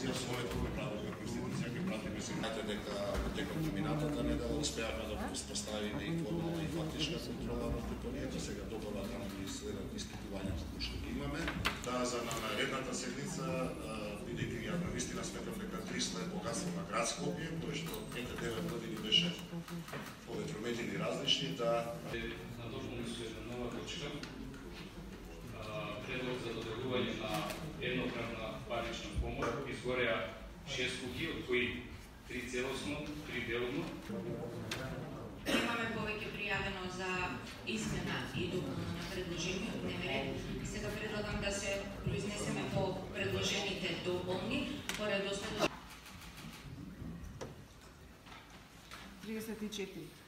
конституција, својот предлог на конституција кој пратиме сигнате дека во текот на минатата недела успеавме да успоставиме и формална и фактичка контрола врз депонијата, сега добава да ги следат испитувањата кои што ги имаме. За наредната седница, бидејќи ја навистина сметав дека 300 е богатство на град Скопје, кој што 9 години беше поветрометени различни, надолжност е нова точка. Предлог за доделување на еднократна парична помош изгореа 6 куќи, од кои 3 целосно, 3 делно. Имаме повеќе пријавено за измена и допуна на предложениот дневен ред. Сега предлагам да се произнесеме по предложените дополни по редослед 34.